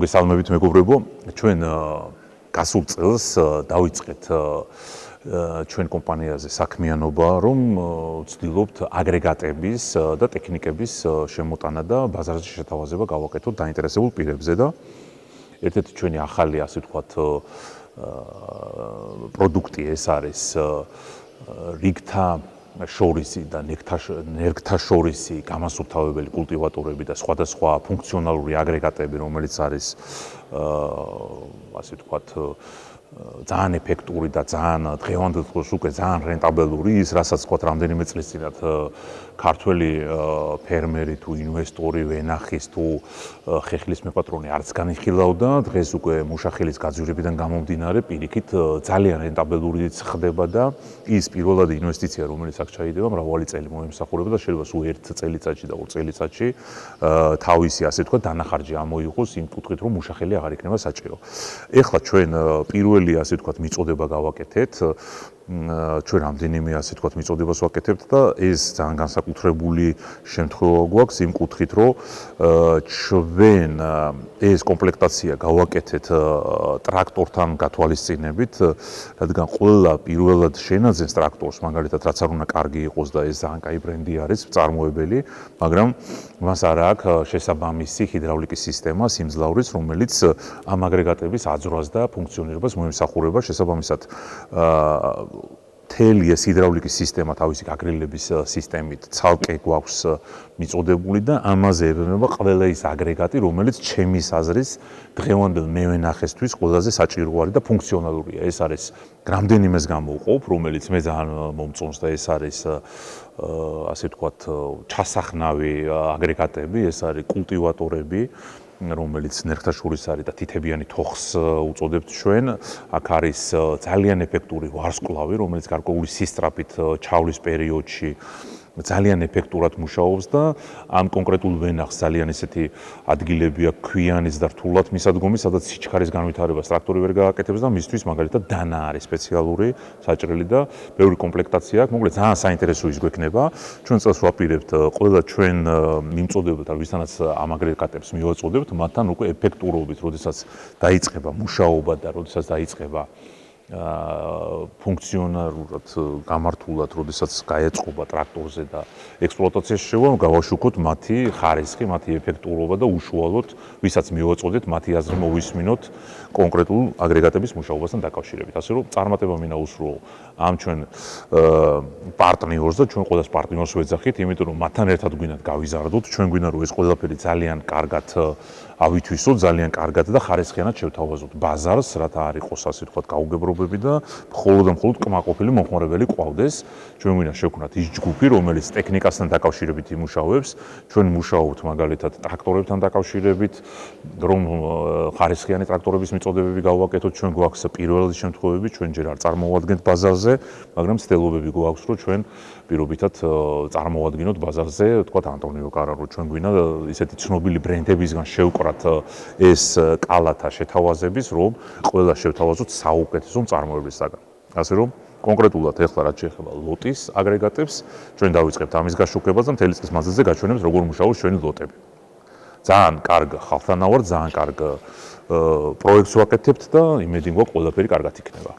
მოგესალმებით მეგობრებო, ჩვენ გასულ წელს დავიწყეთ ჩვენ კომპანიაზე საქმიანობა, რომ ვცდილობთ აგრეგატების და ტექნიკების შემოტანა და ბაზარზე შეთავაზება გავაკეთოთ დაინტერესებულ პირებზე და ერთ-ერთი ჩვენი ახალი, ასე ვთქვათ, პროდუქტი ეს არის რიგთა შორისი და ნერგთა შორისი გამასუფთავებელი კულტივატორები და სხვადასხვა ფუნქციონალური აგრეგატები, რომელიც არის ასე ვთქვათ ძალიან ეფექტური და ძალიან დღევანდელ დროს უკვე ძალიან რენტაბელური ის, რასაც ვთქვათ რამდენიმე წლის წინათ ქართველი ფერმერი თუ ინვესტორი ვენახის თუ ხეხილის მეპატრონი არც განიხილავდა, დღეს უკვე მუშახელის გაძვირებიდან გამომდინარე პირიქით ძალიან რენტაბელურიც ხდება და ის პირველად ინვესტიცია, რომელიც აქ ჩაიდება, მრავალი წელი მოემსახურება და შეიძლება სულ ერთ წელიწადში და ორ წელიწადში თავისი, ასე ვთქვათ, დანახარჯი ამოიღოს იმ კუთხით, რომ მუშახელი აღარ იქნება საჭირო. ეხლა ჩვენ პირველი, ასე ვთქვათ, მიწოდება გავაკეთეთ. ჩვენ რამდენიმე, ასე ვთქვათ, მიწოდებას ვაკეთებთ და ეს ძალიან განსაკუთრებული შემთხვევა გვაქვს იმ კუთხით, რომ ჩვენ ეს კომპლექტაცია გავაკეთეთ ტრაქტორთან გათვალისწინებით, რადგან ყველა პირველად შენაძენს ტრაქტორს, მაგალითად, რაც არ უნდა კარგი იყოს და ეს ძალიან კაი ბრენდი არის, მწარმოებელი, მაგრამ მას არ აქვს შესაბამისი ჰიდრავლიკის სისტემა, სიმძლავრის, რომელიც ამ აგრეგატების აძვრას და ფუნქციონირებას მოემსახურება შესაბამისად მთელი ეს ჰიდრავლიკის სისტემა თავისი გაგრილების სისტემით ცალკე გვაქვს მიწოდებული და ამაზე ებრძვა ყველა ის აგრეგატი, რომელიც ჩემის აზრის დღევანდელ მევენახესთვის ყველაზე საჭირო არის და ფუნქციონალურია. ეს არის რამდენიმეს გამოვყოფ, რომელიც მე ძალიან მომწონს და ეს არის ასე ვთქვათ ჩასახნავი აგრეგატები, ეს არის კულტივატორები, რომელიც ნერგთა შორის არის და თითებიანი თოხს უწოდებთ ჩვენ. აქ არის ძალიან ეფექტური ვარსკვლავი, რომელიც გარკვეული სისწრაფით ჩავლის პერიოდში ძალიან ეფექტურად მუშაობს და ამ კონკრეტულ ვენახს ძალიან ესეთი ადგილები აქვს ქვიანიც და რთულად მისადგომი, სადაც სიჩქარის განვითარებას ტრაქტორი ვერ გააკეთებს და მისთვის მაგალითად დანა არის სპეციალური საჭრელი და ბევრი კომპლექტაცია აქვს. მოკლედ ძალიან საინტერესო ის გვექნება. ჩვენ წელს ვაპირებთ ყველა ჩვენ მიმწოდებთ, ვისთანაც ამ აგრეგატებს მივაწოდებთ, მათთან უკვე ეფექტურობით, როდესაც დაიწყება მუშაობა და როდესაც დაიწყება ფუნქციონალურად გამართულად, როდესაც გაეწყობა ტრაქტორზე და ექსპლუატაციაში შევა, გავაშუქოთ მათი ხარისხი, მათი ეფექტურობა და უშუალოდ, ვისაც მივაწოდეთ, მათი აზრი მოვისმინოთ კონკრეტულ აგრეგატების მუშაობასთან დაკავშირებით. ასე რომ წარმატება მინდა უსურვო ამ ჩვენ პარტნიორს და ჩვენ ყველას პარტნიორს ვეძახით, იმიტომ რომ მათთან ერთად გვინდათ გავიზარდოთ, ჩვენ გვინდა რომ ეს ყველაფერი ძალიან კარგად ავითვისოთ, ძალიან კარგად და ხარისხიანად შევთავაზოთ ბაზარს, რათა არ იყოს, ასე ვთქვათ, გაუგებრობები და მხოლოდ და მხოლოდ კმაყოფილი მომხმარებელი ყავდეს. ჩვენ გვინდა შევქმნათ ის ჯგუფი, რომელიც ტექნიკასთან დაკავშირებით იმუშავებს, ჩვენ მუშაობთ მაგალითად ტრაქტორებთან დაკავშირებით, რომ ხარისხიანი ტრაქტორების მიწოდებები გავაკეთოთ, ჩვენ გვაქვს პირველადი შემთხვევები, ჩვენ ჯერ არ წარმოვადგენთ ბაზარზე, მაგრამ ცდილობები გვაქვს, რომ ჩვენ პირობითად წარმოვადგინოთ ბაზარზე, თქვათ ანტონიო კარარო, ჩვენ გვინდა ისეთი ცნობილი ბრენდებისგან შევკრათ ეს კალათა შეთავაზების, რომ ყველა შევთავაზოთ საუკეთესო მწარმოებლისაგან. ასე რომ კონკრეტულად ეხლა რაც შეეხება ლოტის აგრეგატებს, ჩვენ დავიწყებთ ამის გაშუქებას და მთელი წლის მანძილზე გაჩვენებთ, როგორ მუშაობს ჩვენი ლოტები. ძალიან კარგ ხალხთანავარ, ძალიან კარგ პროექტს ვაკეთებთ და იმედი გვაქვს ყველაფერი კარგად იქნება.